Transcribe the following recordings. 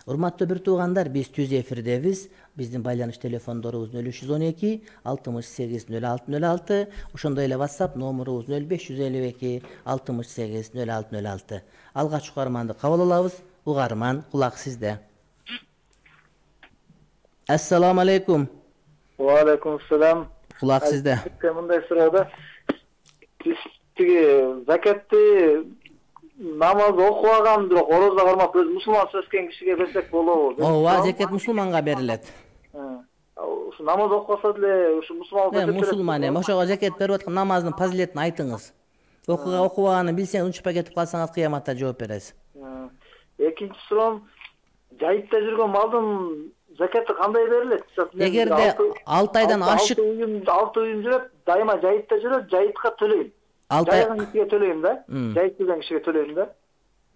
Урматтуу бир туугандар, биз түз эфирдебиз. Биздин байланыш телефондорубуз 0312 68 0606, ошондой эле WhatsApp номерубуз 0552 68 0606. Алгач угарманды кабыл алабыз. Угарман, кулак сизде. Ассаламу алейкум. Ва алейкум ассалам. Кулак сизде. Мындай суроодо тиги закатты намаз окубаган, бирок орозо кармап өз мусулман сөзгөн кишиге берсек болобу? Ооба, закат мусулманга берилет. Ушу намаз окубаса деле ушу мусулман мусулман ошого закат берип аткан намаздын фазилетин айтыңыз. Окубаганын билсеңиз, унчупай кетип калсаңыз кыяматта жооп бересиз. Экинчи суроом, жайытта жүргөн малдын закаты кандай берилет? Эгерде 6 айдан ашык 6 уюм жүрөт, дайыма жайытта жүрөт, жайытка төлөйм. 6 айга кишиге төлөйм да. Жайыт жүргөн кишиге төлөйм да.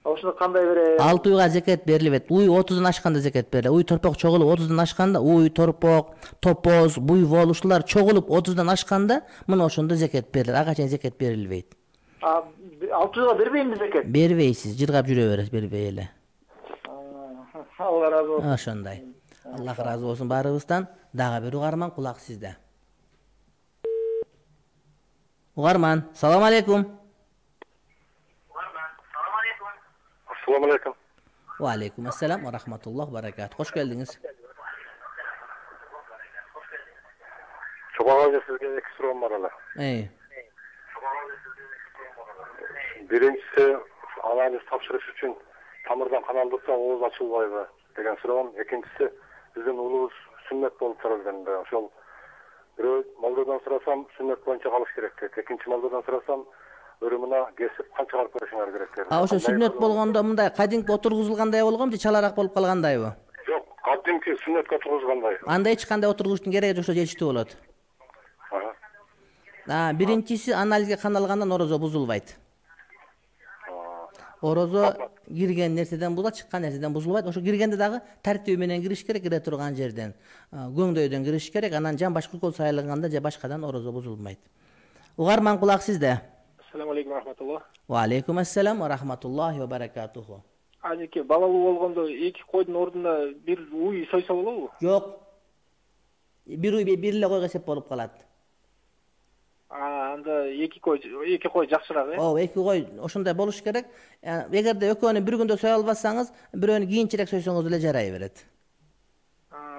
Ошону кандай берет? 6 уйга закат берилбейт. Уй 30дан ашканда закат берилет. Уй торпок чогулуп 30дан ашканда, уй торпок, топоз, буйвол ушулар чогулуп 30дан ашканда, мына ошондо закат берилет. Ага чейин закат берилбейт. 6 уйга бербеймби закат? Бербейсиз, жыргап жүрө бересиз, бербей эле. Алла разы болсун. Ошондой. Аллах разы болсун баарыбыздан. Дагы бир угарман, кулак сизде. Угарман, салам алейкум. Assalamu alaikum. Wa alaikum assalam wa rahmatullah wa barakatuh. Hoş geldiniz. Çoban sizge iki sorum var hala. Birincisi, analiz tapşırış için tamırdan kanaldıksa oğuz açılmaydı degen sorum. İkincisi, bizim ulus sünnet bolup tarafından da. Şol bir maldadan sorasam sünnet boyunca kalış gerek dedi. İkinci maldadan sorasam өрүмүнө кесип канча карып беришиңер керек деп. Ошо сүннөт болгондо мындай кадимки отургузулгандай болгонбу же чалараак болуп калгандайбы? Жок, кадимки сүннөткө отургузгандай. Анда эч кандай отургузуштун кереги жок, жетиштүү болот. Биринчиси, анализге каналгандан орозо бузулбайт. Орозо кирген нерседен бузулат, чыккан нерседен бузулбайт. Ошо киргенде дагы тартиби менен кириш керек, кире турган жерден, көңдөйдөн кириш керек. Анан жан башка укол сайылганда же башкадан орозо бузулбайт. Угарман, кулак сизде. Assalamu alaikum rahmatullah. Wa alaikum assalam wa rahmatullahi wa barakatuhu. Ажеке, балалуу болгондо эки койдун ордуна бир уй сойсо болобу? Жок. Бир уй бир эле койго эсеп болуп калат. Анда эки кой жакшыраак, э? Ооба, эки кой ошондой болуш керек. Эгерде экөөнү бир күндө сой албасаңыз, бирөөнү кийинчерээк сойсоңуз деле жарай берет.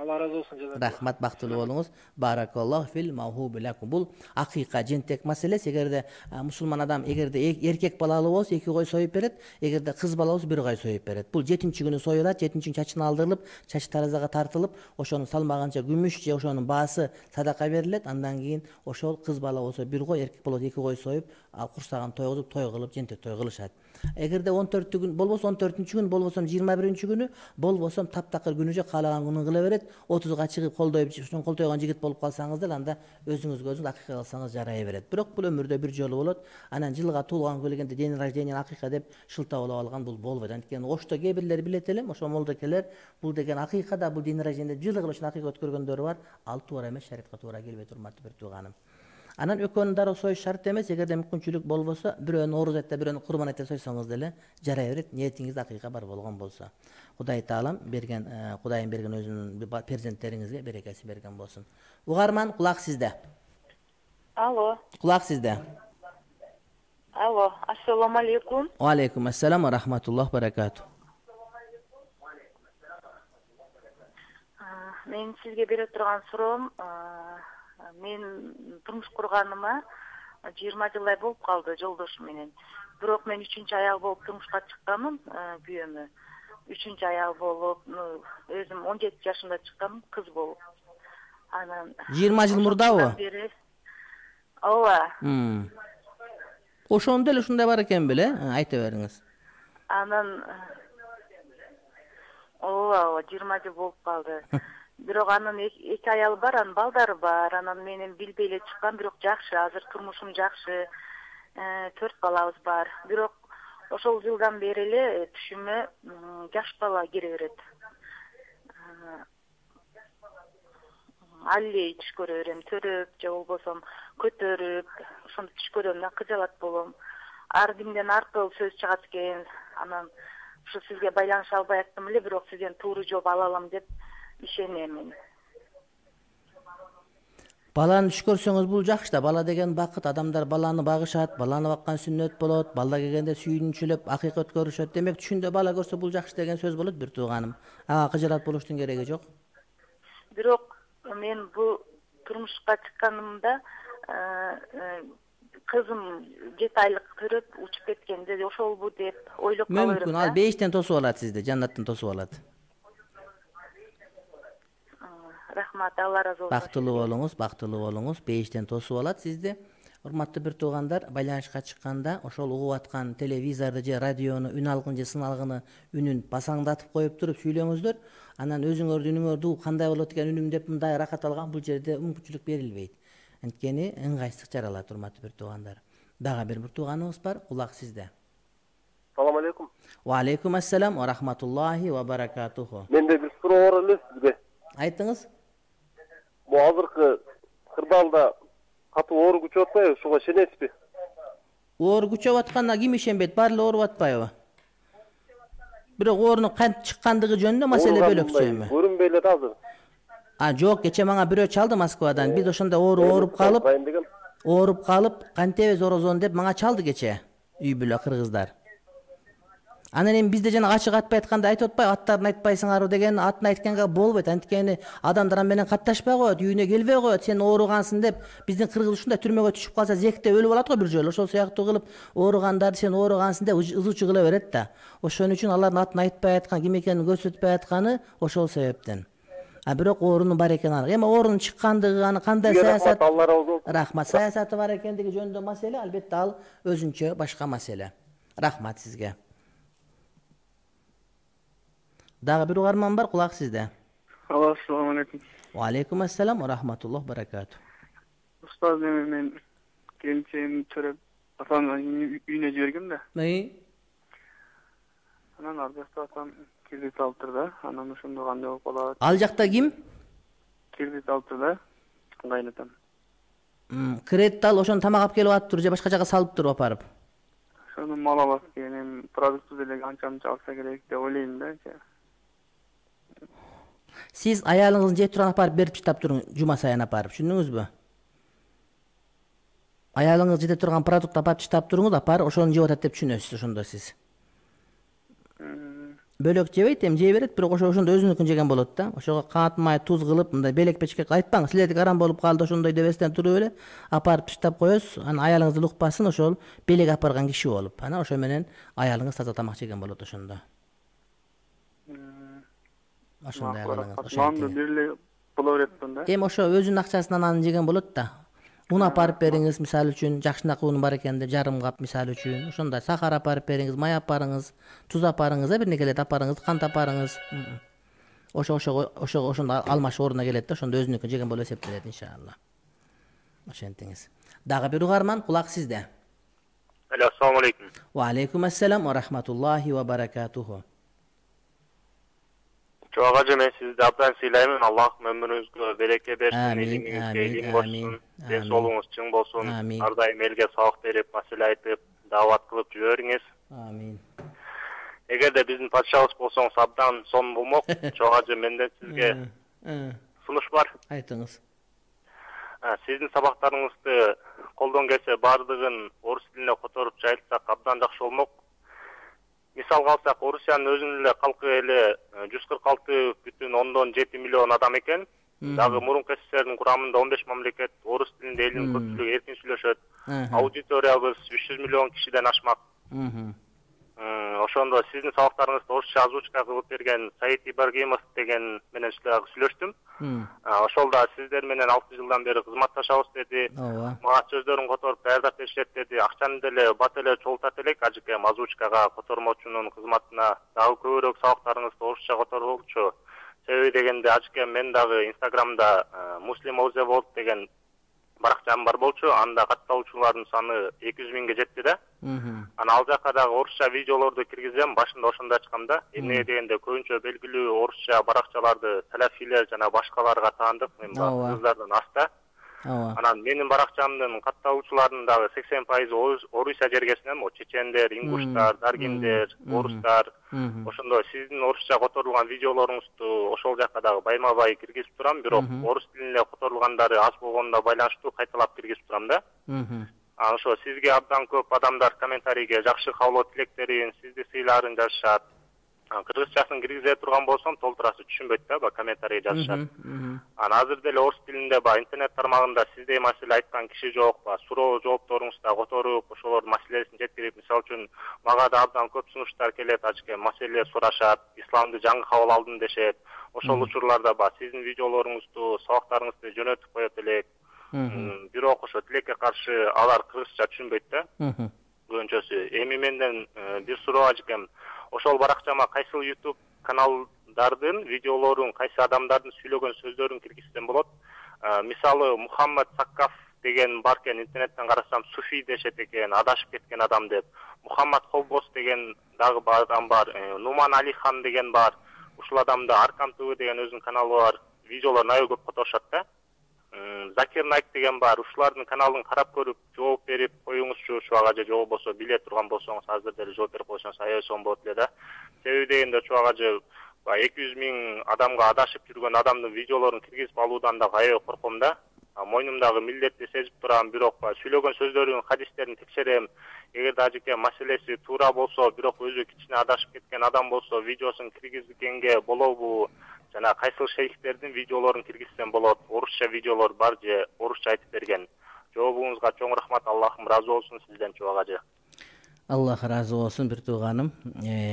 Allah razı olsun canım. Рахмат, бактылуу болуңуз. Баракаллаху фил мавхуби лакум. Бул акыйка жентек маселеси. Эгерде мусулман адам эгерде эркек балалуу болсо эки кой союп берет, эгерде кыз бала болсо бир кой союп берет. Бул 7-чи күнү союлат, 7-чи күнү чачына алдырылып, чач таразага тартылып, ошонун салмагынча күмүш же ошонун баасы садака берилет. Андан кийин ошол кыз бала болсо бир кой, эркек болсо эки кой союп, курсагын тойгузуп, той кылып, жентек той кылышат. Эгерде 14 күн болбосо 14-чү күн, болбосо 21-чү күнү, болбосо таптакыр күнү же каалаган күнүн кыла берет. 30га чыгып колдоюп, ошон кол тойгон жигит болуп калсаңыз деле анда өзүңүзгө өзүңүз акыйка кылсаңыз жарай берет. Бирок бул өмүрдө бир жолу болот. Анан жылга туулган келгенде день рождения акыйка деп шылтап алган бул болбойт. Анткени ошто кээ бирлер билет элем, ошо молдокелер бул деген акыйка да, бул день рождения жылы кылып акыйка өткөргөндөр бар. Ал туура эмес, шариатка туура келбейт, урматтуу бир тууганым. Анан экөөнүн дароо союш шарт эмес. Эгерде мүмкүнчүлүк болбосо, бирөөнү орус айтта, бирөөнү курбан айтта сойсоңуз деле жарай берет, ниетиңизде акыйка бар болгон болсо. Кудай таалам берген, Кудайым берген өзүнүн перзенттериңизге берекеси берген болсун. Угарман, кулак сизде. Алло. Кулак сизде. Алло, ассаламу алейкум. Ва алейкум ассалам ва рахматуллах баракату. Мен сизге бере турган суроом, мен турмуш курганыма 20 жылдай болуп калды жолдошум менен. Бирок мен 3-чү аял болуп турмушка чыкканмын, күйөөмө. 3-чү аял болуп, өзүм 17 жашымда чыкканмын, кыз болуп. Анан 20 жыл мурдабы? Ооба. Ошондо эле ушундай бар экен беле? Айта бериңиз. Анан ооба, 20 жыл болуп калды. Бирок анын эки аялы бар, анын балдары бар. Анан менен билбей эле чыккан, бирок жакшы, азыр турмушум жакшы. 4 балабыз бар. Бирок ошол жылдан бери эле түшүмө жаш бала кире берет. Аллей түш көрө берем, төрөп же болбосо көтөрүп, ошондо түш көрөм да, кыжалат болом. Ар кимден ар кыл сөз чыгат экен. Анан ушу сизге байланыша албай аттым эле, бирок сизден туура жооп ала алам деп ишенем мен. Баланы түш көрсөңүз бул жакшы да. Бала деген бакыт, адамдар баланы багышат, баланы баккан сүннөт болот, бала келгенде сүйүнүчүлөп, акыйка өткөрүшөт. Демек түшүндө бала көрсө бул жакшы деген сөз болот бир тууганым. Ага кыжырат болуштун кереги жок. Бирок мен бул турмушка чыкканымда кызым 7 айлык төрөп учуп кеткенде ошолбу деп ойлоп калып Мүмкүн, ал бейиштен тосуп алат сизди, жаннаттан тосуп алат. Рахмат, Алла разы болсун. Бактылуу болуңуз, бейиштен тосуп алат сизди. Урматтуу бир туугандар, байланышка чыкканда ошол угуп аткан телевизорду же радиону үн алгын же сыналгыны үнүн басаңдатып коюп туруп сүйлөңүздөр. Анан өзүңөрдүн үнүңөрдү кандай болот экен үнүм деп мындай рахат алган бул жерде мүмкүнчүлүк берилбейт. Анткени ыңгайсыздык жаралат, урматтуу бир туугандар. Дагы бир тууганыбыз бар, кулак сизде. Салам алейкум. Ва алейкум ассалам ва рахматуллахи ва баракатуху. Менде бир суроо бар эле сизге. Айтыңыз. Бу азыркы кырдаалда катуу оору күчөп атпайбы? Ушуга ишенесизби? Оору күчөп атканына ким ишенбейт? Баары эле ооруп атпайбы? Бирок оорунун кантип чыккандыгы жөнүндө маселе бөлөкчө эми. Көрүнбөй эле азыр. Жок, кече мага бирөө чалды Москвадан. Биз ошондо ооруп калып, кантебиз орозон деп мага чалды кече. Үй бүлө кыргыздар. Анан эми бизде жана ачык атпай айтканда айтып атпайбы, аттарын айтпайсыңарбы деген, атын айтканга болбойт. Анткени адамдар менен катташпай коет, үйүнө келбей коет. Сен ооругансың деп биздин кыргыз ушундай түрмөгө түшүп калса зектеп өлүп алат го бир жолу. Ошол сыяктуу кылып ооругандарды сен ооругансың деп ызуучу кыла берет да. Ошон үчүн алардын атын айтпай айткан, ким экенин көрсөтпөй айтканы ошол себептен. Бирок оорунун бар экени анык. Эми оорунун чыккандыгы, аны кандай саясат, рахмат, саясаты бар экендиги жөнүндө маселе, албетте ал өзүнчө башка маселе. Рахмат сизге. Дагы бир угарман бар, кулак сизде. Ассаламу алейкум. Ва алейкум ассалам ва рахматуллах баракату. Устаз, мен келинчегимди төрөп атамдын үйүнө жибергем да. Анан ал жакта атам кредит алыптыр да. Анан ошондо кандай болуп калат? Ал жакта ким? Кредит алыптыр да. Кайнатам. Кредит ал ошону тамак алып келип атыптыр же башка жака салыптыр апарып? Ошону мал алат экен, продукты деле анча-мынча алса керек деп ойлойм да. Сиз аялыңыздын жеп турган апарып берип таштап туруң, жума сайын апарып, түшүндүңүзбү? Аялыңыз жете турган продукт апарып таштап туруңуз, апарып ошону жеп атат деп түшүнөсүз ошондо сиз. Бөлөк жебейт, эми жей берет, бирок ошондо өзүнүкүн жеген болот да. Ошого каат май, туз кылып, мындай белек печке айтпаңыз, силердики арам болуп калды ошондой дебестен туруп эле апарып таштап коесуз. Анан аялыңызды лукпасын, ошол белек апарган киши болуп. Анан ошо менен аялыңыз таза тамак жеген болот ошондо. Ошондой кылыңыз. Ошондо бир эле боло берет да. Эми ошо өзүнүн акчасынан аны жеген болот да. Un апарып бериңиз, мисалы үчүн, жакшынакы un бар экен деп жарым кап мисалы үчүн. Ошондой сахар апарып бериңиз, май апарыңыз, туз апарыңыз, бир некелет апарыңыз, кант апарыңыз. Ошондо алмаш ордуна келет да, ошондо өзүнүкүн жеген болуп эсептелет иншалла. Ошентиңиз. Дагы бир угарман, кулак сизде. Ассаламу алейкум. Ва алейкум ассалам ва рахматуллахи ва баракатуху. Чоң ажа, мен сизди абдан сыйлаймын. Аллах өмүрүңүзгө береке берсин, илимиңизге илим кошсун, ден соолугуңуз чың болсун. Ар дайым элге сабак берип, маселе айтып, даават кылып жүрөңүз. Амин. Эгерде биздин падышабыз болсоңуз абдан сонун болмок. Чоң ажа, менден сизге сунуш бар. Айтыңыз. Сиздин сабактарыңызды колдон келсе баардыгын орус тилине которуп жайылтсак абдан жакшы болмок. Мисалга алсак, Орусиянын өзүнүн эле калкы эле 146,7 миллион адам экен. Дагы мурунку СССРдин курамында 15 мамлекет орус тилинде элдин көпчүлүгү эркин сүйлөшөт. Аудиториябыз 300 миллион кишиден ашмак. Ошондо сиздин сабактарыңызды орусча озвучка кылып берген Саид Ибрагимов деген менен сүйлөштүм. Ошол да сиздер менен 6 жылдан бери кызматташабыз деди. Мага сөздөрүн которуп даярдап беришет деди. Акчаны деле бат эле чогултат элек ажыкем озвучкага котормочунун кызматына. Дагы көбүрөөк сабактарыңызды орусча которбокчу. Себеби дегенде ажыкем мен дагы Инстаграмда Muslim Oze World деген баракчам бар болчу. Анда катталуучулардын саны 200 миңге жетти да. Ана ал жака дагы орусча видеолорду киргизем, башында ошондо ачкам да. Эмне дегенде көбүнчө белгилүү орусча баракчаларды салафилер жана башкаларга таандык, мен кыздардан аста. Анан менин баракчамдын катталуучуларынын дагы 80% орусия жергесинен, чечендер, ингуштар, даргиндер, орустар. Ошондо сиздин орусча которулган видеолоруңузду ошол жакка дагы байма-бай киргизип турам, бирок орус тилинде которулгандары аз болгонуна байланыштуу кайталап киргизип турам да. Ошо сизге абдан көп адамдар комментарийге жакшы каалоо тилектерин, сизди сыйларын жазышат. Кыргызчасын киргизе турган болсом толтурасы түшүнбөйт да, комментарий жазышат. Азыр деле орус тилинде интернет тармагында сиздей маселе айткан киши жок, суроо жоопторуңузду которуп, ошолор маселесин жеткирип, мисалы үчүн мага да абдан көп сунуштар келет, ачке маселе сурашат, исламды жаңы кабыл алдым дешет. Ошол учурларда сиздин видеолоруңузду, сабактарыңызды жөнөтүп коет элек. Бирок ошо тилекке каршы алар кыргызча түшүнбөйт да. Көбүнчөсү. Эми менден бир суроо ажыкем. Ошол баракчама кайсыл YouTube каналдардын видеолорун, кайсы адамдардын сүйлөгөн сөздөрүн киргизсем болот? Мисалы Мухаммад Саккаф деген бар экен, интернеттен карасам суфий дешет экен, адашып кеткен адам деп. Мухаммад Холбос деген дагы адам бар, Нуман Алихан деген бар. Ушул адамда Аркам ТВ деген өзүнүн каналы бар. Видеолорун аябай көп которушат да. Закир Найк деген бар. Ушулардын каналын карап көрүп, жооп берип коюңузчу чубага, же жок болсо биле турган болсоңуз азыр деле жооп берип койсоңуз аябай сонун болот эле да. Себеби дегенде чубага 200 000 адамга адашып жүргөн адамдын видеолорун киргизип алуудан дагы аябай корком да. Мойнумдагы милдетти сезип турам, бирок сүйлөгөн сөздөрүнүн хадистерин текшерем. Эгерде ажыке маселеси туура болсо, бирок өзү кичине адашып кеткен адам болсо, видеосун киргизгенге болобу? Жана кайсыл шейхтердин видеолорун киргизсем болот? Орусча видеолор бар же орусча айтып берген? Жообуңузга чоң рахмат, Аллахым ыраазы болсун сизден чубага же. Аллах ыраазы болсун бир тууганым.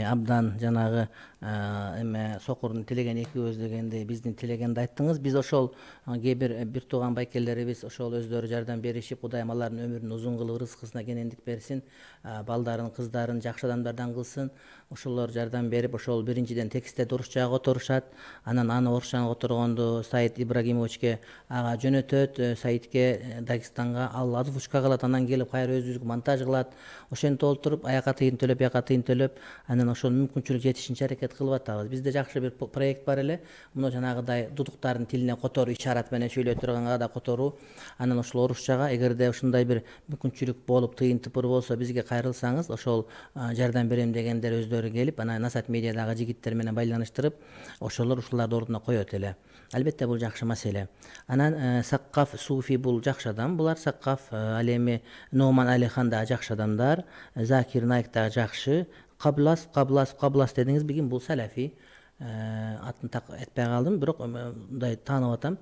Абдан жанагы эме сокурдун тилеген экөөбүз дегенде биздин тилегенди айттыңыз. Биз ошол кээ бир тууган байкелерибиз ошол өздөрү жардам беришип, Кудайым алардын өмүрүн узун кылып, рызкысына кенендик берсин, балдарын, кыздарын жакшы адамдардан кылсын. Ошолор жардам берип, ошол биринчиден текстте орусча которушат, анан аны орусча которгонду Саид Ибрагимовичке ага жөнөтөт, Саидке Дагестанга ал озвучка кылат, анан келип кайра өзүбүздү монтаж кылат. Ошентип олтуруп аяка тыйын төлөп, бияка тыйын төлөп, анан ошол мүмкүнчүлүк жетишинче аракет кылып атабыз. Бизде жакшы бир проект бар эле. Муну жанагыдай дудуктардын тилине которуу, ишарат менен сүйлөй турганга да которуу, анан ошол орусчага эгерде ушундай бир мүмкүнчүлүк болуп, тыйын тыпыр болсо бизге кайрылсаңыз, ошол жардам берем дегендер өздөрү келип, анан Насат медиадагы жигиттер менен байланыштырып, ошолор ушуларды ордуна коет эле. Албетте бул жакшы маселе. Анан Саккаф суфи бул жакшы адам, булар Саккаф, ал эми Нуман Алихан да жакшы адамдар, Закир Найк да жакшы. Каблас дедиңиз, бигин бул салафи. Атын так этпей калдым, бирок мындай таанып атам,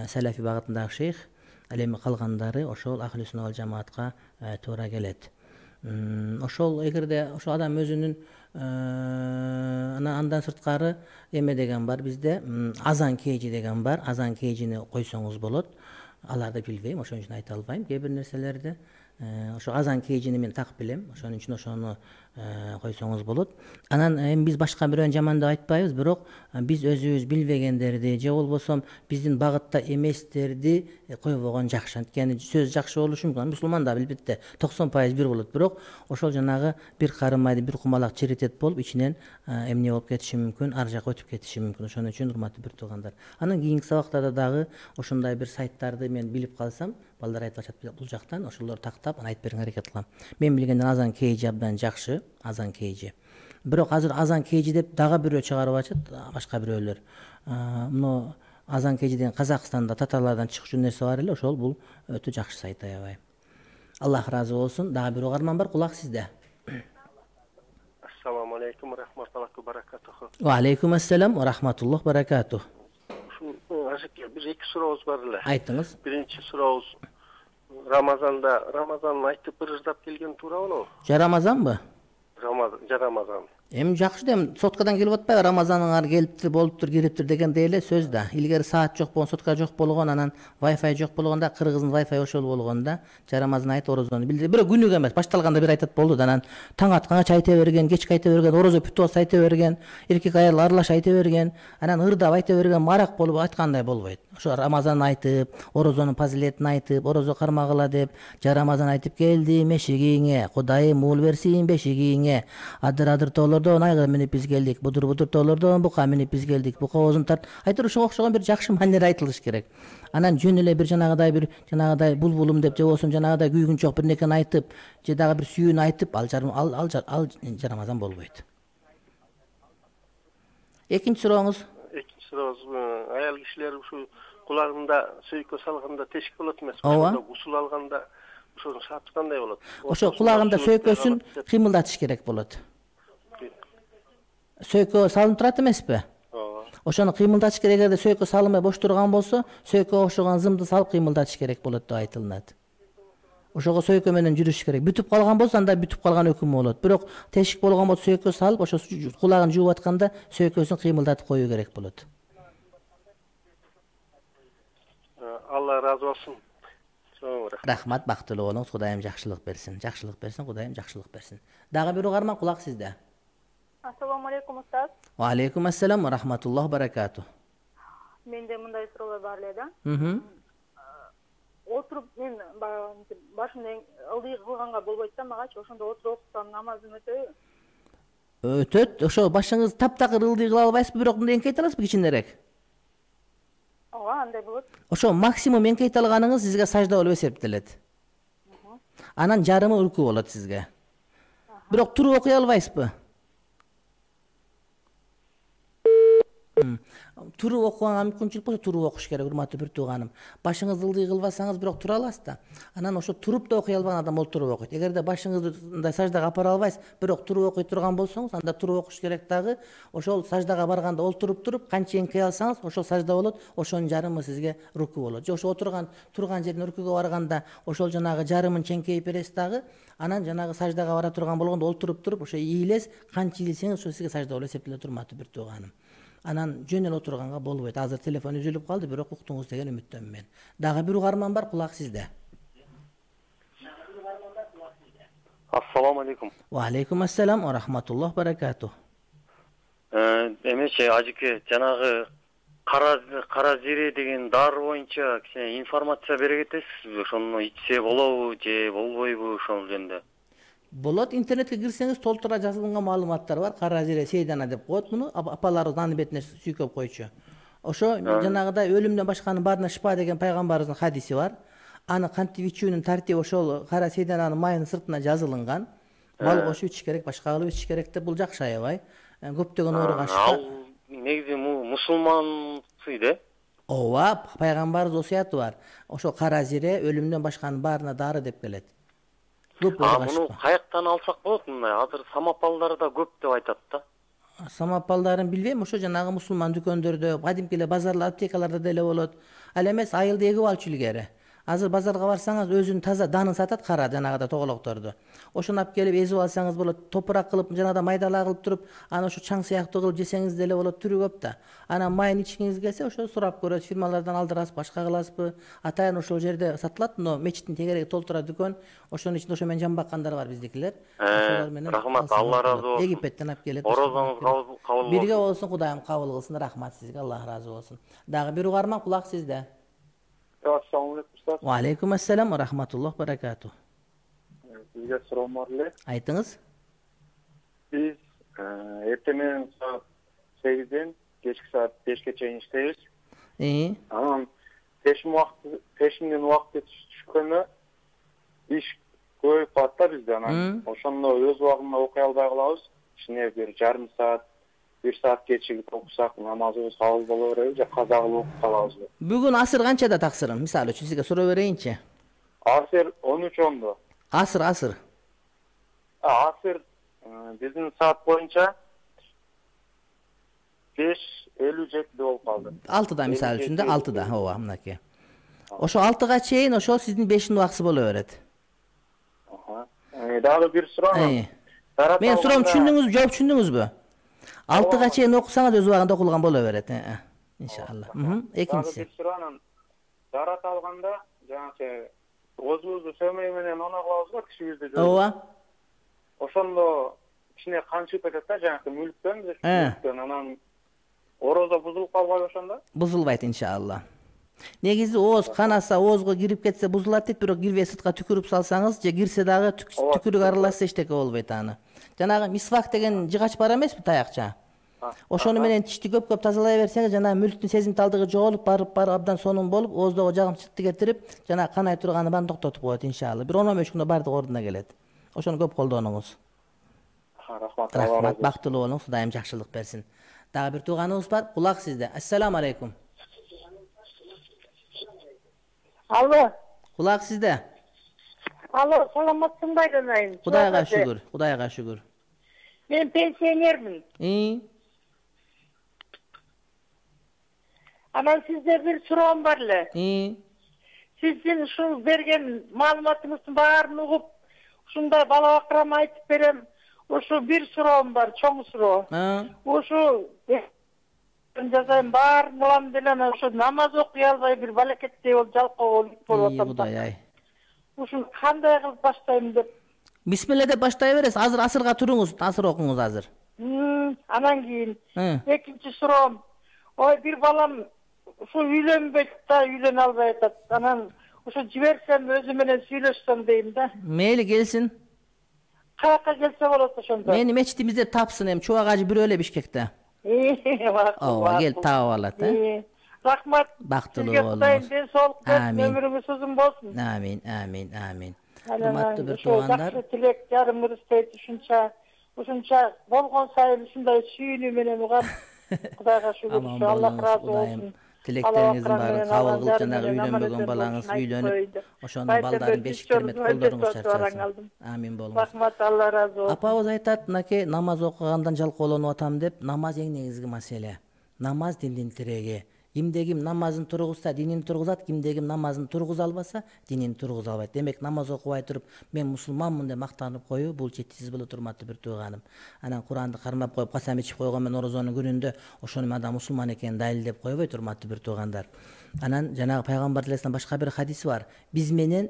салафи багытындагы шейх. Ал эми калгандары ошол Ахли Сунна вал Жамаатка туура келет. Ошол эгерде ошол адам өзүнүн андан сырткары эме деген бар бизде, азан кейжи деген бар. Азан кейжини койсоңуз болот. Аларды билбейм, ошон үчүн айта албайм кээ бир нерселерди. Ошо азан кейжини мен так билем, ошон үчүн ошону койсоңуз болот. Анан эми биз башка бирөөнү жамандап айтпайбыз, бирок биз өзүбүз билбегендерди же болбосо биздин багытта эместерди койбогон жакшы. Анткени сөз жакшы болушу мүмкүн. Мусулманда албетте 90% бир болот, бирок ошол жанагы бир карымайды, бир кумалак черетет болуп, ичинен эмне болуп кетиши мүмкүн, ар жака өтүп кетиши мүмкүн. Ошон үчүн урматтуу бир туугандар. Анан кийинки сабактарда дагы ошондой бир сайттарды мен билип калсам, балдар айтып атышат бул жактан, ошолорду тактап айтып берүүгө аракет кылам. Мен билгенден азан кейжи абдан жакшы, азан кейжи. Бирок азыр азан кейжи деп дагы бирөө чыгарып атышат, башка бирөөлөр. Муну азан кейжи деген Казакстанда татарлардан чыкчу нерсе бар эле, ошол бул өтө жакшы сайт аябай. Аллах ыраазы болсун. Дагы бир угарман бар, кулак сизде. Ассаламу алейкум, рахматуллахи ва баракатуху. Ва алейкум ассалам ва рахматуллахи ва баракатух. Ажыке бир эки сурообуз бар эле. Айтыңыз. Биринчи сурообуз, Рамазан айтып ырыздап келген туурабы? Рамазанбы? Рамазан. Эми жакшы дем, соткадан келип атпайбы? Рамазаныңар келиптир, болуптур, кириптир дегендей эле сөз да. Илгери саат жок болгон, сотка жок болгон, анан Wi-Fi жок болгонда, кыргыздын Wi-Fi ошол болгонда, Рамазан айт орозону билдири. Бирок күнүгө эмес, башталганда бир айтат болду да, анан таң атканча айта берген, кечке айта берген, орозо бүтүп алса айта берген, эркек аял аралаш айта берген, анан ырдап айта берген, марак болуп айткандай болбойт. Ошо Рамазан айтып, орозонун фазилетин айтып, орозо кармагыла деп, Рамазан айтып келди мешигиңе, Кудайым уул берсин бешигиңе, адыр-адыр тоолор тоолордон айга минип биз келдик, будур тоолордон бука минип биз келдик, бука оозун тарт. Айтор ошого окшогон бир жакшы манера айтылыш керек. Анан жөн эле бир жанагыдай булбулум деп же болбосо жанагыдай күйгүнчөк бир нерсени айтып, же дагы бир сүйүүнү айтып, ал жарамазан болбойт. Экинчи сурооңуз? Экинчи сурооңуз аял кишилер ушу кулагында сөйкө салганда тешик болот эмеспи? Ооба. Усул алганда ошонун шарты кандай болот? Ошо кулагында сөйкөсүн кыймылдатыш керек болот. Сөйкө салынып турат эмеспи? Ооба. Ошону кыймылдатыш керек. Эгерде сөйкө салынбай бош турган болсо, сөйкөгө окшогон зымды салып кыймылдатыш керек болот деп айтылат. Ошого сөйкө менен жүрүш керек. Бүтүп калган болсо анда бүтүп калган өкүмү болот. Бирок тешик болгон болсо сөйкө салып, ошо кулагын жууп атканда сөйкөсүн кыймылдатып коюу керек болот. Алла ыраазы болсун. Рахмат, бактылуу болуңуз. Кудайым жакшылык берсин. Жакшылык берсин, Кудайым жакшылык берсин. Дагы бир угарман, кулак сизде. Ассаламу алейкум, устаз. Ва алейкум ассалам ва рахматуллах баракату. Менде мындай суроолор бар эле да. Отуруп мен башымда ылдый кылганга болбойт да магачы, ошондо отуруп окусам намазым өтөбү? Өтөт. Ошо башыңыз таптакыр ылдый кыла албайсызбы, бирок мындай эңкейте аласызбы кичинерээк? Ооба, андай болот. Ошо максимум эңкейте алганыңыз сизге сажда болуп эсептелет. Анан жарымы урку болот сизге. Бирок туруп окуй албайсызбы? Туруп окуганга мүмкүнчүлүк болсо туруп окуш керек, урматтуу бир тууганым. Башыңызды ылдый кылбасаңыз, бирок тура аласыз да. Анан ошо туруп да окуй албаган адам олтуруп окуйт. Эгерде башыңызды мындай саждага апара албайсыз, бирок туруп окуй турган болсоңуз, анда туруп окуш керек дагы. Ошол саждага барганда олтуруп туруп, канча эңкей алсаңыз, ошол сажда болот, ошонун жарымы сизге руку болот. Же ошо турган жерден рукуга барганда, ошол жанагы жарымын чеңкейип бересиз дагы. Анан жанагы саждага бара турган болгондо олтуруп туруп, ошо ийилесиз, канча ийилсеңиз, ошо сизге сажда болуп эсептелет, урматтуу бир тууганым. Анан жөн эле отурганга болбойт. Азыр телефон үзүлүп калды, бирок уктуңуз деген үмүттөнмүн. Дагы бир угарман бар, кулак сизде. Ассаламу алейкум. Ва алейкум ассалам ва рахматуллах баракату. Эмечи ажыке жанагы кара зире деген дары боюнча кичине информация бере кетесизби? Ошону ичсе болобу же болбойбу ошол жөнүндө? Болот, интернетке кирсеңиз толтура жазылган маалыматтар бар. Кара зире сейдана деп коет муну. Апаларыбыз аны бетине сүйкөп койчу. Ошо жанагыдай өлүмдөн башканын баарына шыпа деген пайгамбарыбыздын хадиси бар. Аны кантип ичүүнүн тартиби ошол кара сейдананын майынын сыртына жазылган. Мал кошуп ичиш керек, башка кылып ичиш керек деп, бул жакшы аябай. Көптөгөн ооруга шыпа. Ал негизи мусулман сыйды. Ооба, пайгамбарыбыз осуяты бар. Ошол кара зире өлүмдөн башканын баарына дары деп келет. Муну каяктан алсак болот мындай? Азыр самопалдарда көп деп айтат да. Самопалдарын билбейм, ошо жанагы мусулман дүкөндөрдө, кадимки эле базарлар, аптекаларда деле болот. Ал эмес айылда эгип алчу илгери. Азыр базарга барсаңыз өзүнүн таза данын сатат, кара жанагыда тоголокторду. Ошону алып келип эзип алсаңыз болот, топурак кылып, жанагыда майдалаа кылып туруп, аны ошо чаң сыяктуу кылып жесеңиз деле болот, түрү көп да. Анан майын ичкиңиз келсе, ошо сурап көрөсүз, фирмалардан алдырасыз, башка кыласызбы? Атайын ошол жерде сатылат, но мечиттин тегереги толтура дүкөн, ошонун ичинде ошо менен жамбаккандар бар биздикилер. Ошолор менен рахмат, Алла разы болсун. Египеттен алып келет. Орозоңуз кабыл болсун. Бирге болсун, Кудайым кабыл кылсын. Рахмат сизге, Алла разы болсун. Дагы бир угарман, кулак сизде. Ассаламу алейкум, устаз. Ва алейкум ассалам ва рахматуллах баракату. Сизге суроом бар эле. Айтыңыз. Биз эртең менен саат 8ден кечки саат 5ке чейин иштейбиз. Анан пешинден убакыт түшкөндө иш көбөйүп калат да бизде. Анан ошондо өз убагында окуй албай калабыз. Кичине бир жарым саат, 1 саат кечигип окусак намазыбыз кабыл боло береби же каза кылып окуп калабызбы? Бүгүн асыр канчада таксырым? Мисалы үчүн сизге суроо берейинчи. Асыр 13:10. Асыр. Асыр биздин саат боюнча 5:57 болуп калды. 6да мисалы үчүн да 6да, ооба, мынакей. Ошо 6га чейин ошо сиздин 5 убакысы боло берет. Дагы бир суроо. Мен суроом түшүндүңүзбү, жооп түшүндүңүзбү? 6га чейин окусаңыз өз убагында окулган боло берет. Иншалла. Экинчиси. Бир суроонун дарат алганда жанагы оозубузду сөмөй менен она кылабызбы, кишибизди жөө. Ооба. Ошондо кичине кан чыгып кетет да, жанагы мүлктөн, анан орозо бузулуп калбайбы ошондо? Бузулбайт иншалла. Негизи ооз канаса, оозго кирип кетсе бузулат дейт, бирок кирбей сыртка түкүрүп салсаңыз же кирсе дагы түкүрүк аралашса эчтеке болбойт аны. Жанагы мисвак деген жыгач бар эмеспи, таякча? Ошону менен тишти көп тазалай берсеңиз, жана мүлктүн сезимталдыгы жоголуп барып абдан сонун болуп, ооздогу жагымчылыкты кетирип, жана канай турганы баарын токтотуп коет иншалла. Бир 10-15 күндө баардыгы ордуна келет. Ошону көп колдонуңуз. Рахмат, бактылуу болуңуз, Кудайым жакшылык берсин. Дагы бир тууганыбыз бар. Кулак сизде. Ассаламу алейкум. Алло. Кулак сизде. Алло, саламатсыңбы жанайым? Кудайга шүгүр, Кудайга шүгүр. Мен пенсионермин. Анан сизде бир суроом бар эле. Сиздин ушул берген маалыматыңыздын баарын угуп, ушундай бала бакырам айтып берем. Ушу бир суроом бар, чоң суроо. Ушу жазайын баарын кылам делем, ушу намаз окуй албай бир балакеттей болуп жалкоо болуп атам. Кудай. Ушуну кандай кылып баштайм деп. Бисмилла деп баштай бересиз. Азыр асырга туруңуз, асыр окуңуз азыр. Анан кийин экинчи суроом. Ой, бир балам ушу үйлөнбөйт да, үйлөнө албай атат. Анан ушу жиберсем өзү менен сүйлөшсөм дейм да. Мейли, келсин. Каяка келсе болот ошондо. Мени мечитибизде тапсын, эми Чубак ажы бирөө эле Бишкекте. Ооба, келип таап алат, Рахмат. Бактылуу болуңуз. Кудайым ден соолук берсин, өмүрүңүз узун болсун. Амин. Урматтуу бир туугандар. Жакшы тилек жарымыбыз дейт, ушунча болгон сайын ушундай сүйүүнү менен угам. Кудайга шүгүр, Аллах разы болсун. Тилектериңиздин баарын кабыл кылып, жанагы үйлөнбөгөн балаңыз үйлөнүп, ошону балдарын бешиктирмет колдоруңуз чарчасын. Амин болуңуз. Рахмат, Алла разы болсун. Апабыз айтат, мынакей намаз окугандан жалкоолонуп атам деп, намаз эң негизги маселе. Намаз диндин тиреги. Кимде ким намазын тургузса, динин тургузат, кимде ким намазын тургуза албаса, динин тургуза албайт. Демек, намаз окубай туруп, мен мусулманмын деп мактанып коюу, бул жетишсиз болот, урматтуу бир тууганым. Анан Куранды кармап коюп, касам ичип койгон менен орозонун күнүндө ошону адам мусулман экенин далилдеп койбойт, урматтуу бир туугандар. Анан жанагы пайгамбар алейхиссалам башка бир хадиси бар. Бизден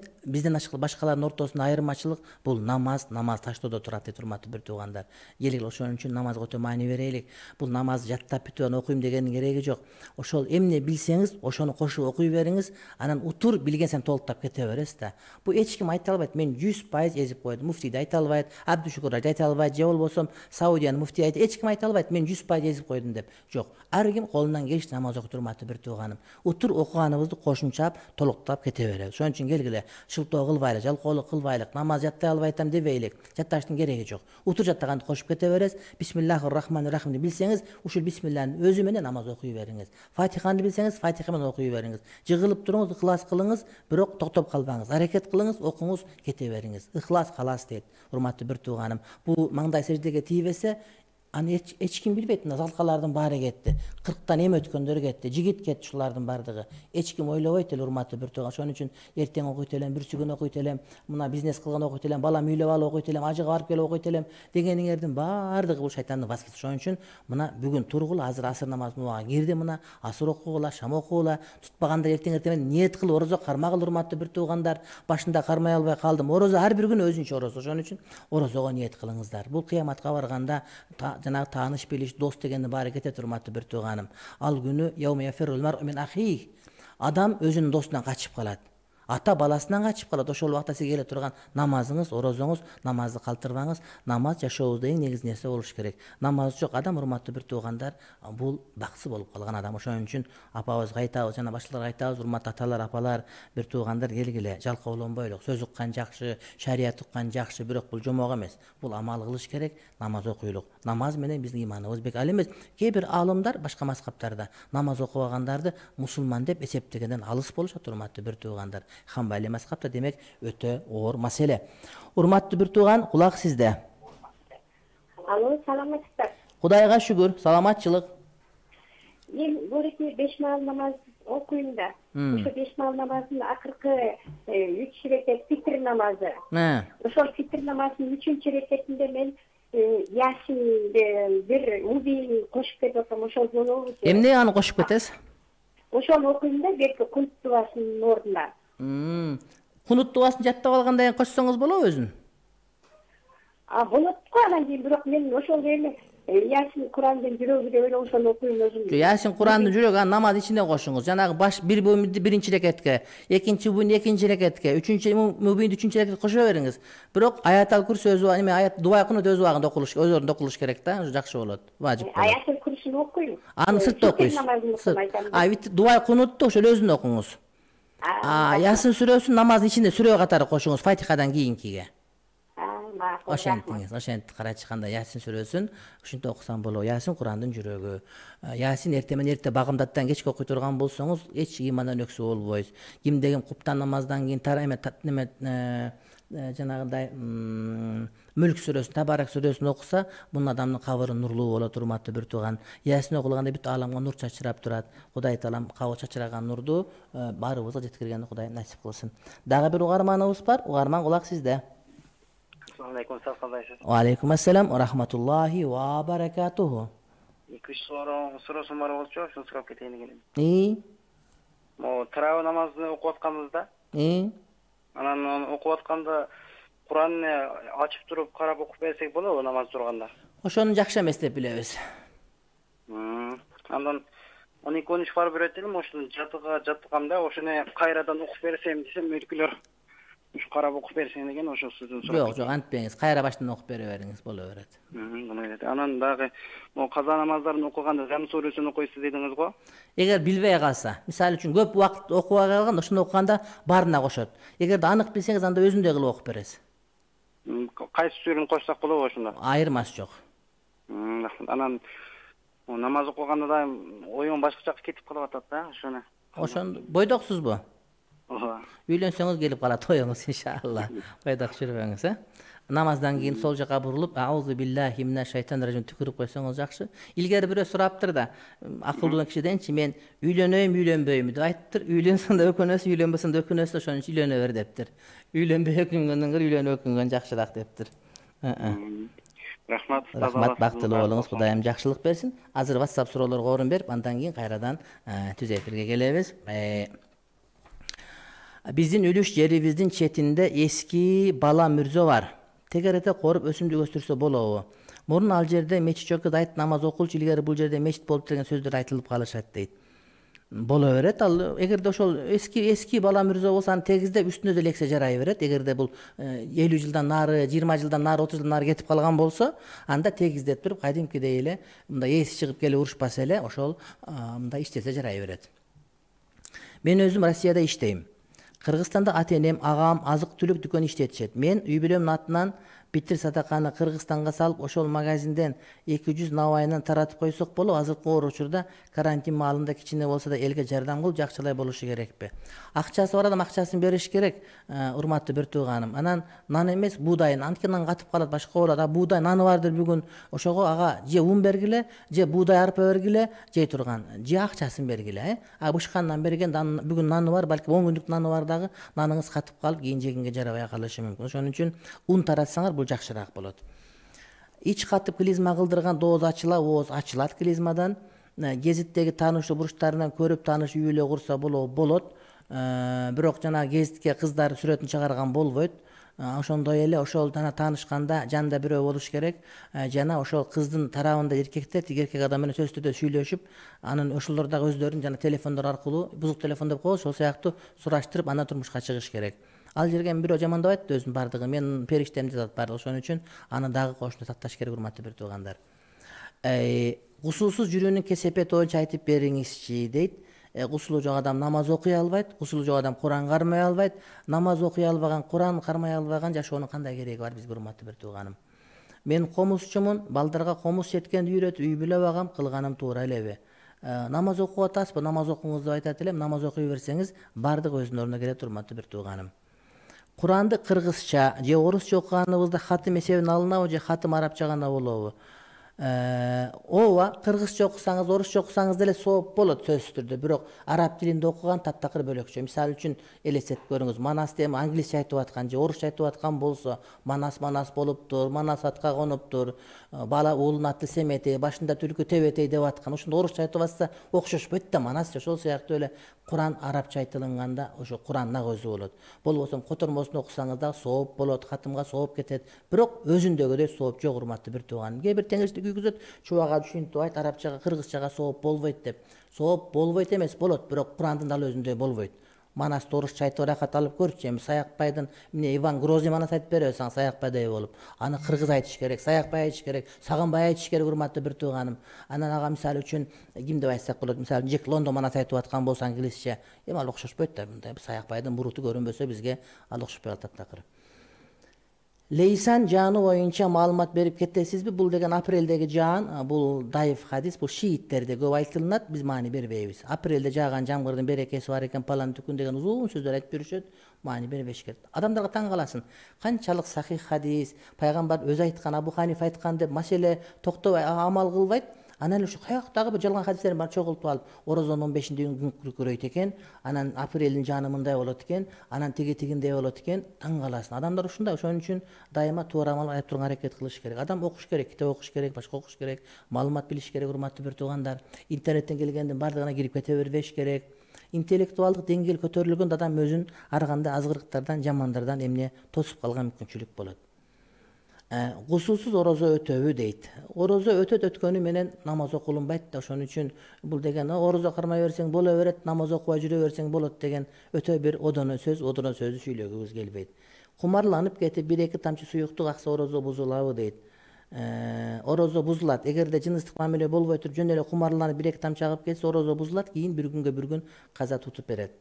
башкалардын ортосунда айырмачылык бул намаз таштоодо турат дейт, урматтуу бир туугандар. Келгиле ошон үчүн намазга өтө маани берелик. Бул намаз жаттап бүтүп окуйм дегенин кереги жок. Ошол эмне билсеңиз, ошону кошуп окуй бериңиз, анан утур билгенсен толуктап кете бересиз да. Бу эч ким айта албайт. Мен 100% эзип койдум. Муфтий да айта албайт, Абдушукур айта албайт, же болбосо Саудиянын муфтий айта, эч ким айта албайт. Мен 100% эзип койдум деп. Жок. Ар ким колунан келишинче намаз окуйт, урматтуу бир тууганым. Утур окуганыбызды кошумчап, толуктап кете беребиз. Ошон үчүн келгиле, шылтоо кылбайлык, жалкоолук кылбайлык, намаз жаттай албайтам дебейлик. Жатташтын кереги жок. Утур жаттаганды кошуп кете бересиз. Бисмиллахир-рахманир-рахимди билсеңиз, ушул бисмилланын өзү менен намаз окуй бериңиз. Фатиханы билсеңиз, Фатиха менен окуй бериңиз. Жыгылып туруңуз, ихлас кылыңыз, бирок токтоп калбаңыз. Аракет кылыңыз, окуңуз, кете бериңиз. Ихлас калас дейт, урматтуу бир тууганым. Бул маңдай сеждеге тийбесе, аны эч ким билбейт. Мына залкалардын баары кетти. 40тан эми өткөндөр кетти. Жигит кетти ушулардын бардыгы. Эч ким ойлобойт эле, урматтуу бир тууган. Ошон үчүн эртең окуйт элем, бүрсү күн окуйт элем, мына бизнес кылган окуйт элем, балам үйлөп алып окуйт элем, ажыга барып келип окуйт элем дегениңердин баардыгы бул шайтандын васвасы. Ошон үчүн мына бүгүн тургула, азыр асыр намазынын убагы кирди, мына асыр окугула, шам окугула, тутпаганда эртең менен ниет кылып орозо кармагыл, урматтуу бир туугандар. Башында кармай албай калдым. Орозо ар бир күнү өзүнчө орозо. Ошон үчүн орозого ниет кылыңыздар. Бул кыяматка барганда жанагы тааныш дос дегенди баары кетет, урматтуу бир тууганым. Ал күнү адам өзүнүн досунан качып калат. Ата баласынан качып калат. Ошол убакта сиз келе турган намазыңыз, орозоңуз, намазды калтырбаңыз. Намаз жашообузда эң негизги нерсе болуш керек. Намаз жок адам, урматтуу бир туугандар, бул бакытсыз болуп калган адам. Ошон үчүн апабызга айтабыз, жана башкаларга айтабыз, урматтуу аталар, апалар, бир туугандар, келгиле, жалкоолонбойлук. Сөз уккан жакшы, шарият уккан жакшы, бирок бул жомок эмес. Бул амал кылыш керек, намаз окуйлук. Намаз менен биздин иманыбыз бек. Ал эмес, кээ бир аалымдар башка мазхабтарда намаз окубагандарды мусулман деп эсептегенден алыс болушат, урматтуу бир туугандар. Хамбали мазхабта демек өтө оор маселе. Урматтуу бир тууган, кулак сизде. Алло, саламатсыздар. Кудайга шүгүр, саламатчылык. Мен буреки 5 маал намаз окуйм да. Ошо 5 маал намаздын акыркы 3 рекет фитр намазы. Ошол фитр намазынын 3-чү рекетинде мен Ясин бир уби кошуп кетип атам, ошол болобу? Эмне аны кошуп кетесиз? Ошону окуйм да, берки кунут дуасынын ордуна. Кунут дуасын жаттап алгандан кийин кошсоңуз болобу өзүн? Болот го, анан кийин бирок мен ошол эми Ясин Курандын жүрөгү деп эле ошону окуйм өзүм. Ясин Курандын жүрөгү анын намаз ичине кошуңуз. Жанагы баш бир мубинди биринчи рекетке, экинчи мубинди экинчи рекетке, үчүнчү мубинди үчүнчү рекетке кошо бериңиз. Бирок аятал курс өзү эме аят дуа кунут өз убагында окулуш, өз ордунда окулуш керек да, жакшы болот. Важип болот. Аятал курсуну окуйм. Аны сыртта окуйсуз. Дуа кунутты ошол өзүндө окуңуз. Ясин сүрөсүн намаздын ичинде сүрө катары кошуңуз Фатихадан кийинкиге. Ошентип карачы кандай Ясин сүрөсүн ушинтип окусам болот. Ясин Курандын жүрөгү. Ясин эрте менен эрте багымдаттан кечке окуй турган болсоңуз эч ыймандан өксү болбойсуз. Кимдеген куптан намаздан кийин жанагындай Мүлк сүрөсүн, Табарак сүрөсүн окуса, бунун адамдын кабыры нурлуу болот, урматтуу бир тууган. Ясин окулганда бүт ааламга нур чачырап турат. Кудай таалам кабыл чачыраган нурду баарыбызга жеткиргенди Кудай насип кылсын. Дагы бир угарманыбыз бар. Угарман кулак сизде. Assalamu alaikum, sağ kaldayız. Wa alaikum assalam wa rahmatullahi wa barakatuhu. 2 sorusu var olçu, şunu sorap keteyini gelin. Mo tarawih namazını okup atkanımızda. Anan okup atkanda Kur'an'ı açıp durup karap okup versek bolor o namaz durganda. Oşonu жакшы эмес деп билебиз. Андан 12-13 бар беретелим, ошону жатканда ошону кайрадан окуп берсем десем, өйткүлөр ушу карап окуп берсең деген ошо сизден сурап. Жок, антпеңиз. Кайра баштан окуп бере бериңиз, боло берет. Анан дагы каза намаздарын окуганда Зам сүрөсүн окуйсуз дедиңиз го? Эгер билбей калса, мисалы үчүн көп убакыт окуп калган, ошону окуганда баарына кошот. Эгерде анык билсеңиз, анда өзүндөй кылып окуп бересиз. Кайсы сүрөнү кошсак болобу ошондо? Айырмасы жок. Анан намаз окуганда да оюн башка жакка кетип калып атат да, ошону. Ошондо бойдоксузбу? Үйлөнсөңүз келип калат оюңуз иншалла. Бойдок жүрбөңүз, намаздан кийин сол жака бурулуп, аузу биллахи минаш шайтанир-ражим түкүрүп койсоңуз жакшы. Илгери бирөө сураптыр да, акылдуу кишиденчи мен үйлөнөйм, үйлөнбөйм деп айтыптыр. Үйлөнсөң да өкүнөсүң, үйлөнбөсөң да өкүнөсүң, ошон үчүн үйлөнө бер дептир. Үйлөнбөй өкүнгөндөн көрө үйлөнүп өкүнгөн жакшыраак дептир. Рахмат, бактылуу болуңуз, Кудайым жакшылык берсин. Азыр WhatsApp суроолорго орун берип, андан кийин кайрадан түз эфирге келебиз. Биздин үлүш жерибиздин четинде эски бала мүрзө бар. Тегерете коруп өсүмдүк өстүрсө болобу? Мурун ал жерде мечит жок айт намаз окулчу, илгери бул жерде мечит болуп деген сөздөр айтылып калышат дейт. Боло берет. Ал эгерде ошол эски бала мүрзө болсо, аны тегиздеп үстүнө да лексе жарай берет. Эгерде бул 50 жылдан нары, 20 жылдан нары, 30 жылдан нары кетип калган болсо, анда тегиздеп туруп кадимкидей эле мындай эси чыгып келип урушпаса эле ошол мындай иштесе жарай берет. Мен өзүм Россияда иштейм. Кыргызстанда ата-энем, агам азык-түлүк дүкөн иштетишет. Мен үй бүлөмдүн атынан битир садаканы Кыргызстанга салып, ошол магазинден 200 навайынан таратып койсок болот. Азыркы оор учурда карантин маалында кичине болсо да элге жардам кылып, жакшылай болушу керекпи? Акчасы бар адам акчасын бериш керек, урматтуу бир тууганым. Анан нан эмес, буудайын, анткени нан катып калат, башка болот. Буудай наны бардыр бүгүн, ошого ага же ун бергиле, же буудай арпа бергиле, жей турган, же акчасын бергиле. Бышкандан берген бүгүн наны бар, балки 10 күндүк наны бар дагы, наныңыз катып калып, кийин жегенге жарабай калышы мүмкүн. Ошон үчүн ун таратсаңар бул жакшыраак болот. Ич катып клизма кылдырган дооз ачылат, ооз ачылат клизмадан. Гезиттеги тааныш бурчтарынан көрүп тааныш үй бүлө курса болот. Бирок жана гезитке кыздар сүрөтүн чыгарган болбойт. Ошондой эле ошол таанышканда жанында бирөө болуш керек. Жана ошол кыздын тарабында эркектер эркек адам менен сөзсүз түрдө сүйлөшүп, анын ошолор дагы өздөрүнүн жана телефондор аркылуу, бузук телефон деп коебуз, ошол сыяктуу сураштырып, андан турмушка чыгыш керек. Ал жерге бирөө жамандабайт өзүнүн бардыгы, мен периштем деп атат бардыгы. Ошон үчүн аны дагы кошуна татташ керек, урматтуу бир туугандар. Гусулсуз жүрүүнүн кесепети боюнча айтып бериңизчи дейт. Гусулу жок адам намаз окуй албайт, гусулу жок адам Куран кармай албайт. Намаз окуй албаган, Куран кармай албаган жашоонун кандай кереги бар бизге, урматтуу бир тууганым? Мен комузчумун, балдарга комуз четкенди үйрөтүп, үй бүлө багам, кылганым туура элеби? Намаз окуп атасызбы? Намаз окуңуз деп айтат элем. Намаз окуй берсеңиз, бардыгы өзүнүн ордуна келет, урматтуу бир тууганым. Куранды кыргызча же орусча окуганыбызда хатым эсебинен алынабы же хатым арабча гана болобу? Ооба, кыргызча окусаңыз, орусча окусаңыз деле сооп болот сөзсүз түрдө. Бирок араб тилинде окуган таптакыр бөлөкчө. Мисалы үчүн элестетип көрүңүз, Манасты эми англисче айтып аткан же орусча айтып аткан болсо, Манас болуптур, Манас атка конуптур, бала уулун аты Семетей, башында түлкү Тебетей деп аткан. Ошондо орусча айтып атса окшошпойт да, Манас ошол сыяктуу эле Куран арабча айтылганда ошо Кураннак өзү болот. Болбосо котормосун окусаңыз да сооп болот, хатымга сооп кетет. Бирок өзүндөгүдөй сооп жок, урматтуу бир тууган. Кээ бир теңирчилик күйгүзөт, чубага түшүнтүп айт, арабчага, кыргызчага сооп болбойт деп. Сооп болбойт эмес, болот, бирок Курандын дал өзүндөй болбойт. Манасты орусча айтып рахат алып көрчү. Эми Саякбайдын эмне Иван Грозный манас айтып береби сага Саякбайдай болуп. Аны кыргыз айтыш керек, Саякбай айтыш керек, Сагынбай айтыш керек, урматтуу бир тууганым. Анан ага мисалы үчүн ким деп айтсак болот? Мисалы Джек Лондон манас айтып аткан болсо англисче, эми ал окшошпойт да мындай. Саякбайдын буруту көрүнбөсө бизге ал окшошпой калат такыр. Лейсан жааны боюнча маалымат берип кетесизби? Бул деген апрелдеги жаан, бул дайыф хадис, бул шииттерде көп айтылынат, биз маани бербейбиз. Апрелде жааган жамгырдын берекеси бар экен, паланты күн деген узун сөздөр айтып жүрүшөт, маани бербеш керек. Адамдарга таң каласың, канчалык сахих хадис, пайгамбар өзү айткан, Абу Ханиф айткан деп маселе токтобой амал кылбайт. Анан ушу каяктагы бир жалган хадистерин бар чогултуп алып, орозонун 15-нде күн көрөйт экен, анан апрелдин жааны мындай болот экен, анан тигиндей болот экен, таң каласың. Адамдар ушундай, ошон үчүн дайыма туура амал айтып турганга аракет кылыш керек. Адам окуш керек, китеп окуш керек, башка окуш керек, маалымат билиш керек, урматтуу бир туугандар. Интернеттен келгендин бардыгына кирип кете бербеш керек. Интеллектуалдык деңгээл көтөрүлгөндө адам өзүн ар кандай азгырыктардан, жамандардан эмне тосуп калган мүмкүнчүлүк болот. Гусулсуз орозо өтөбү дейт. Орозо өткөнү менен намаз окулунбайт да, ошон үчүн бул деген орозо кармай берсең боло берет, намаз окубай жүрө берсең болот деген өтө бир одоно сөздү сүйлөгүбүз келбейт. Кумарланып кетип 1-2 тамчы суюктук акса орозо бузулабы дейт. Орозо бузулат. Эгерде жыныстык мамиле болбой туруп жөн эле кумарланып 1-2 тамчы агып кетсе орозо бузулат, кийин бир күн каза тутуп берет.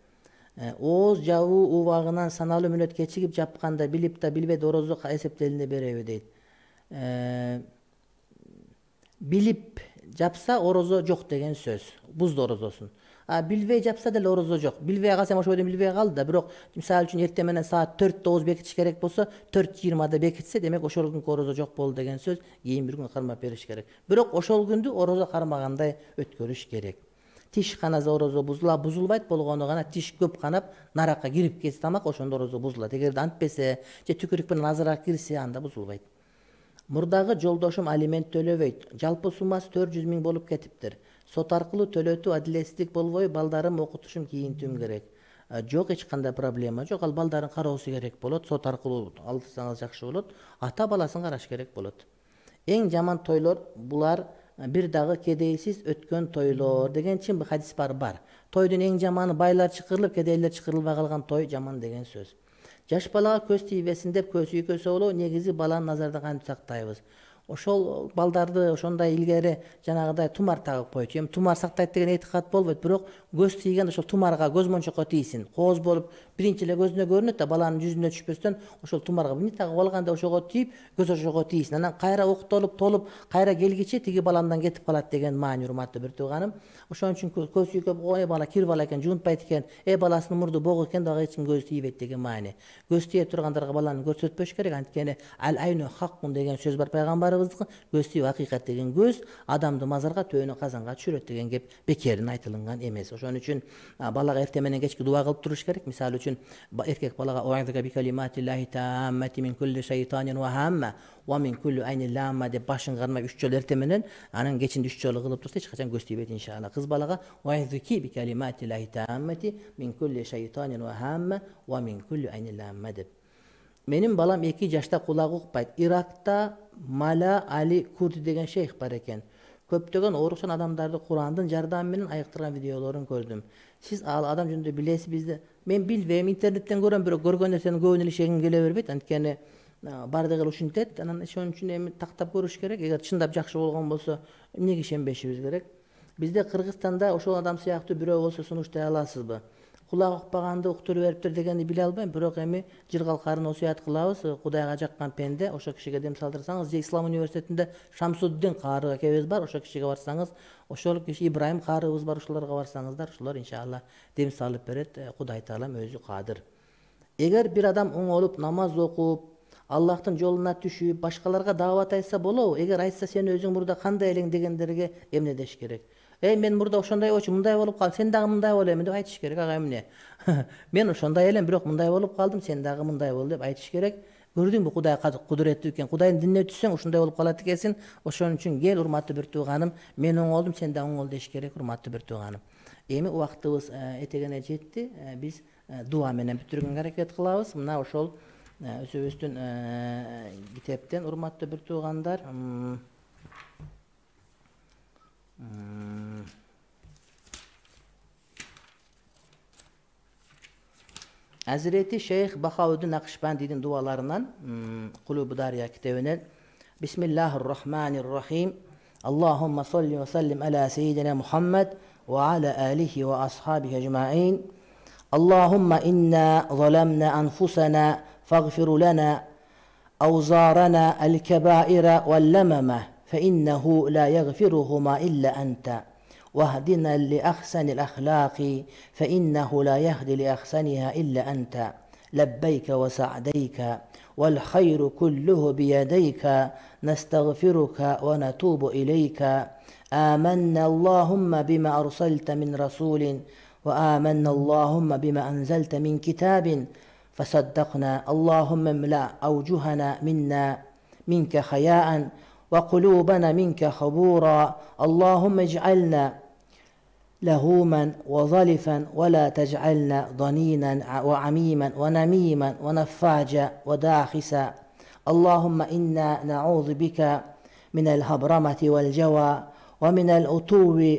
Ооз жабуу убагынан саналуу мүнөт кечигип жапканда билип да билбей орозо эсептелине береби дейт. Билип жапса орозо жок деген сөз. Бузду орозосун. Билбей жапса деле орозо жок. Билбей калсам ошо бойдон билбей калды да, бирок мисалы үчүн эртең менен саат 4-тө ооз бекитиш керек болсо, 4:20 бекитсе, демек ошол күнкү орозо жок болду деген сөз. Кийин бир күн кармап бериш керек. Бирок ошол күндү орозо кармагандай өткөрүш керек. Тиш канаса орозо бузулбайт, болгону гана тиш көп канап, наракка кирип кетсе тамак, ошондо орозо бузулат. Эгерде антпесе, же түкүрүк менен азыраак кирсе, анда бузулбайт. Мурдагы жолдошум алимент төлөбөйт. Жалпы суммасы 400 000 болуп кетиптир. Сот аркылуу төлөтүү адилетсиздик болбой, балдарым окутушум кийинтүүм керек. Жок, эч кандай проблема жок. Ал балдарын кароосу керек болот. Сот аркылуу алдырсаңыз жакшы болот. Ата баласын караш керек болот. Эң жаман тойлор булар бир дагы кедейсиз өткөн тойлор деген чын хадис бар. Тойдун эң жаманы байлар чакырылып, кедейлер чакырылбай калган той жаман деген сөз. Жаш балага көз тийбесин деп көз үйкө соолоо, негизи баланы назардан кантип сактайбыз? Ошол балдарды ошондой илгери жанагыдай тумар тагып койчу. Эми тумар сактайт деген этикат болбойт, бирок көз тийген ошол тумарга көз мончокко тийсин. Кооз болуп биринчи эле көзүнө көрүнөт да, баланын жүзүнө түшпөстөн ошол тумарга эмне тагып алганда ошого тийип, көз ошого тийсин. Анан кайра уктолуп, толуп, кайра келгиче тиги баландан кетип калат деген маани, урматтуу бир тууганым. Ошон үчүн көз үйкөп, бала кирип ала экен, жуунтпайт экен, баласынын мурду бог экен, дагы эч ким көз тийбейт деген маани. Көз тие тургандарга баланы көрсөтпөш керек, анткени ал-айну хаккун деген сөз бар пайгамбарыбыздын. Көз тийүү акыйкат деген көз адамды мазарга, төөнү казанга түшүрөт деген кеп бекерден айтылган эмес. Ошон үчүн балага эртең менен кечки дуа кылып туруш керек. Мисалы үчүн эркек балага уайзука бикалиматиллахи тааммати мин кулли шайтанин ва хамма ва мин кулли айнин ламма деп башын кармап 3 жолу эртең менен, анан кечинде 3 жолу кылып турса эч качан көз тийбейт иншалла. Кыз балага уайзуки бикалиматиллахи тааммати мин кулли шайтанин ва хамма ва мин кулли айнин ламма деп. Менин балам 2 жашта кулак укпайт. Иракта Мала Али Курди деген шейх бар экен. Көптөгөн ооруксан адамдарды Курандын жардамы менен айыктырган видеолорун көрдүм. Сиз ал адам жөнүндө билесизби? Мен билбейм, интернеттен көрөм, бирок көргөн нерсенин көбүн эле ишенгим келе бербейт. Анткени бардыгы эле ушинтет. Анан ошон үчүн эми тактап көрүш керек. Эгер чындап жакшы болгон болсо, эмнеге ишенбешибиз керек? Бизде Кыргызстанда ошол адам сыяктуу бирөө болсо сунуштай аласызбы? Кулак укпаганды уктуруп бериптир дегенди биле албайм, бирок эми жыргалкарын осуят кылабыз. Кудайга жаккан пенде, ошо кишиге дем салдырсаңыз, же Ислам университетинде Шамсуддин каарыга экөөбүз бар, ошо кишиге барсаңыз, ошол киши Ибрайым каарыбыз бар, ошолорго барсаңыздар, ошолор иншалла дем салып берет. Кудай таалам өзү кадыр. Эгер бир адам оңолуп намаз окуп, Аллахтын жолуна түшүп, башкаларга даават айтса болобу? Эгер айтса, сен өзүң мурда кандай элең дегендерге эмне деш керек? Мен мурда ошондой болчу, мындай болуп калдым, сен дагы мындай бол эми деп айтыш керек. Ага эмне? Мен ошондой элем, бирок мындай болуп калдым, сен дагы мындай бол деп айтыш керек. Көрдүңбү, Кудай кудуреттүү экен. Кудайдын динине түшсөң ушундай болуп калат экенсиң. Ошон үчүн кел, урматтуу бир тууганым, мен оңолдум, сен да оңол деш керек, урматтуу бир тууганым. Эми убактыбыз этегине жетти. Биз дуа менен бүтүргөнгө аракет кылабыз. Мына ошол өзүбүздүн китептен, урматтуу бир туугандар, Hazreti Şeyh Bahauddin Nakşibendi'nin dualarından Kulubu Darya kitabından Bismillahirrahmanirrahim. Allahümme salli ve sellim ala seyyidina Muhammed ve ala alihi ve ashabihi ecma'in. Allahümme inna zalemna anfusana faghfiru lana awzarana el-kebaira vel-lemama fe innehu la yaghfiruhuma illa enta. واهدنا لأحسن الأخلاق فإنه لا يهدي لأحسنها إلا أنت لبيك وسعديك والخير كله بيديك نستغفرك ونتوب إليك آمنا اللهم بما أرسلت من رسول وآمنا اللهم بما أنزلت من كتاب فصدقنا اللهم املأ أوجهنا منك حياء وقلوبنا منك خبورا اللهم اجعلنا لهوما وظلفا ولا تجعلنا ضنينا وعميما ونميما ونفاجا وداخسا اللهم إنا نعوذ بك من الهبرمة والجوى ومن الأتو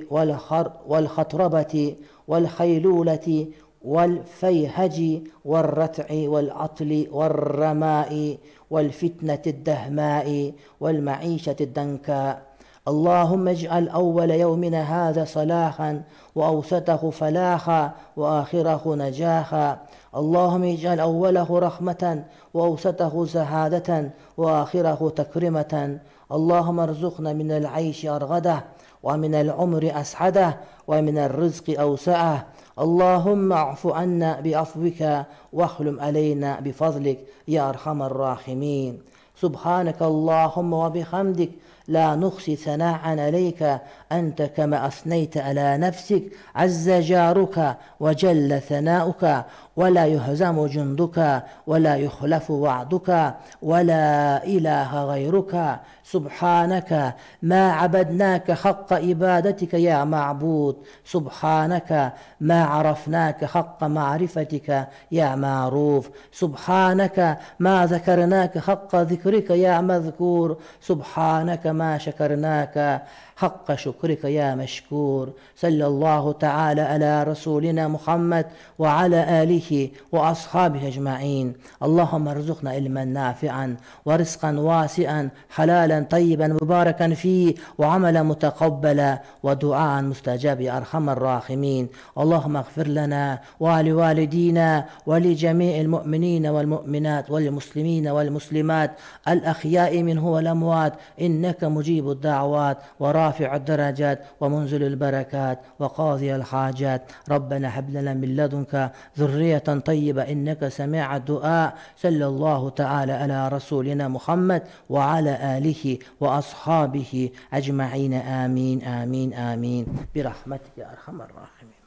والخطربة والخيلولة والفيهج والرتع والعطل والرماء والفتنة الدهماء والمعيشة الدنكاء اللهم اجعل أول يومنا هذا صلاحا وأوسطه فلاحا وآخره نجاحا اللهم اجعل أوله رحمة وأوسطه زهادة وآخره تكرمة اللهم ارزقنا من العيش أرغده ومن العمر أسعده ومن الرزق أوسعه اللهم اعف عنا بعفوك واحلم علينا بفضلك يا أرحم الراحمين سبحانك اللهم وبحمدك لا نحصي ثناء عليك أنت كما أثنيت على نفسك عز جارك وجل ثناؤك ولا يهزم جندك ولا يخلف وعدك ولا إله غيرك سبحانك ما عبدناك حق عبادتك يا معبود سبحانك ما عرفناك حق معرفتك يا معروف سبحانك ما ذكرناك حق ذكرك يا مذكور سبحانك ما شكرناك حق شكرك يا مشكور صلى الله تعالى على رسولنا محمد وعلى آله وأصحابه أجمعين اللهم ارزقنا علما نافعا ورزقا واسعا حلالا طيبا مباركا فيه وعملا متقبلا ودعاء مستجاب يا أرحم الراحمين اللهم اغفر لنا ولوالدينا ولجميع المؤمنين والمؤمنات والمسلمين والمسلمات الأحياء منه والأموات إنك مجيب الدعوات ورافع الدرجات ومنزل البركات وقاضي الحاجات ربنا هب لنا من لدنك ذرية طيبة إنك سميع الدعاء صلى الله تعالى على رسولنا محمد وعلى آله وأصحابه أجمعين آمين آمين آمين برحمتك يا أرحم الراحمين